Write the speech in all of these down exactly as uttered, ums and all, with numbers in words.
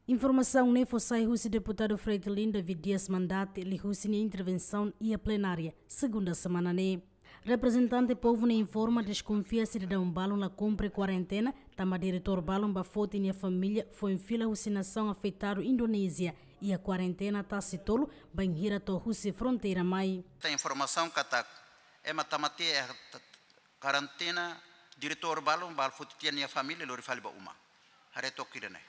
Informasaun ne'e fó sai husi deputadu Fretilin David Dias Mandati liuhusi nia intervensaun iha plenária segunda semana ne'e. Reprezentante povu ne'e informa deskonfia sidadaun balun la kumpre kuarentena, tanba diretór balun ba foti nia família foin fila husi nasaun afetadu Indonézia iha kuarentena tasi tolu, bainhira to'o husi fronteira mai. Tem informação katak ema tama tiha iha kuarentena, diretór balun ba foti tiha nia família lori fali ba uma. Haree took ida-ne'e.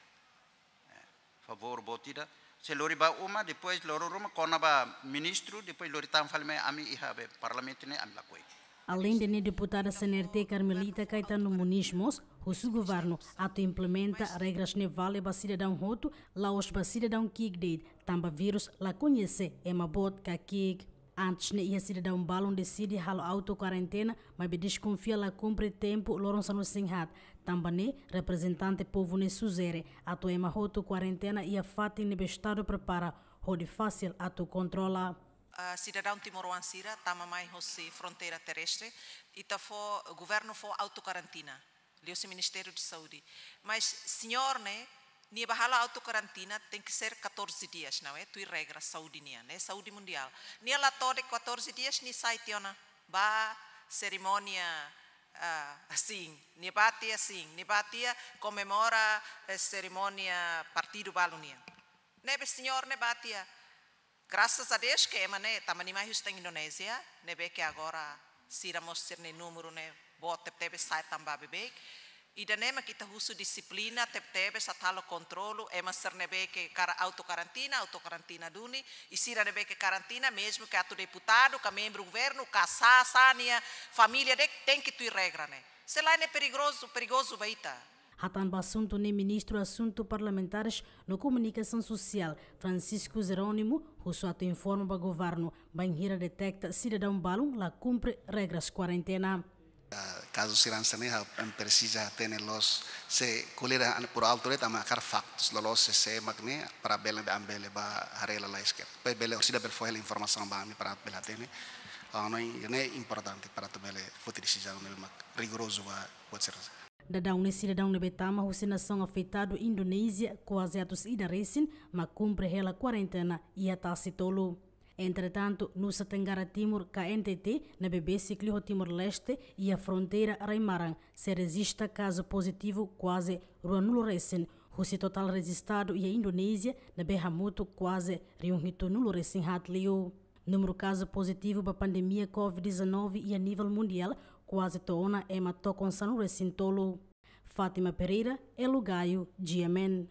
Favór boot ida. Se lori ba uma, depois lori ruma, kona ba ministru, depois lori tan fali mai ami iha be parlamentu ne'e ami lakohi. Além de ne'e, deputada C N R T Carmelita Caetano Muniz mós husu governu atu implementa regras ne'e vale ba sidadaun hotu, la'ós ba sidadaun ki'ik de'it, tanba vírus la koñese ema boot ka ki'ik. Antes ne'e iha sidadaun balun deside halo auto kuarentena, maibé deskonfia la kumpre tempu loron sanulu-resin-haat. Tanba ne'e, reprezentante povu ne'e sujere atu ema hotu kuarentena iha fatin ne'ebé estadu prepara hodi fasil atu kontrola. Ah, sidadaun timoroan sira tama mai hosi fronteira terrestre, ita fó, governu fó auto kuarentena liuhusi Ministériu de Saúde. Mas señór ne'e, nia ba halo auto kuarentena tenke ser catorze dias, não é? Tuir regra saúde nian, ne'e saúde mundiál. Nia la to'o de'it catorze dias, nia sai tiha ona ba serimónia, ah, asin. Nia ba tiha asin, nia ba tiha komemora, eh, serimónia partidu balun nian. Ne'ebé señór ne'e ba tiha. Graças a Deus ke ema ne'e tama nia mai husi tan Indonézia, ne'ebé ke agora sira mós sira-nia númeru ne'e boot tebetebes, sai tan ba beibeik. Ida-ne'e mak ita husu dixiplina tebetebes, atu halo kontrolu ema sira ne'ebé ke kara-, auto kuarentena, auto kuarentena duni, i sira ne'ebé ke kuarentena, mezmu ke atu deputadu, ka membru governu, ka sá, sá nia família de'it, tenke tuir regra ne'e. Se lae ne'e perigozu, perigozu ba ita. Hatán ba asuntu ne'e, Ministru Asuntu Parlamentares no Komunikasaun Sosiál, Francisco Jerónimo, husu atu informa ba governu bainhira deteta sidadaun balun la kumpre regras kuarentena. Ah, kazu sira hanesan ne'e, ha'u presiza hatene loos, se ko'alia an por alto de'it, tanba hakarak faktus, loloos sé, sé mak ne'e, para bele, ami bele ba haree lalais kedas. Depois bele, orsida bele fó hela informasaun ba ami para bele hatene. Ah, no, ne'e importante para atu bele foti desizaun ne'ebé mak rigorozu ba buat sira. Daudaun ne'e sidadaun ne'ebé tama husi nasaun afetadu Indonézia kuaze atus ida resin mak kumpre hela kuarentena iha tasi tolu. Entretantu, Nusa Tenggara Timur, K N T T, ne'ebé besik liu ho Timor-Leste iha fronteira rai-maran, sei rejista kazu pozitivu kuaze ruanulu resin, husi totál rejistadu iha Indonézia ne'ebé hamutuk kuaze rihun hitunulu resin haat liu. Númeru kazu pozitivu ba pandemia covid dezanove iha nivel mundiál kuaze to'o ona ema tokon sanulu resin tolu. Fátima Pereira, Elo Gaio, G M N.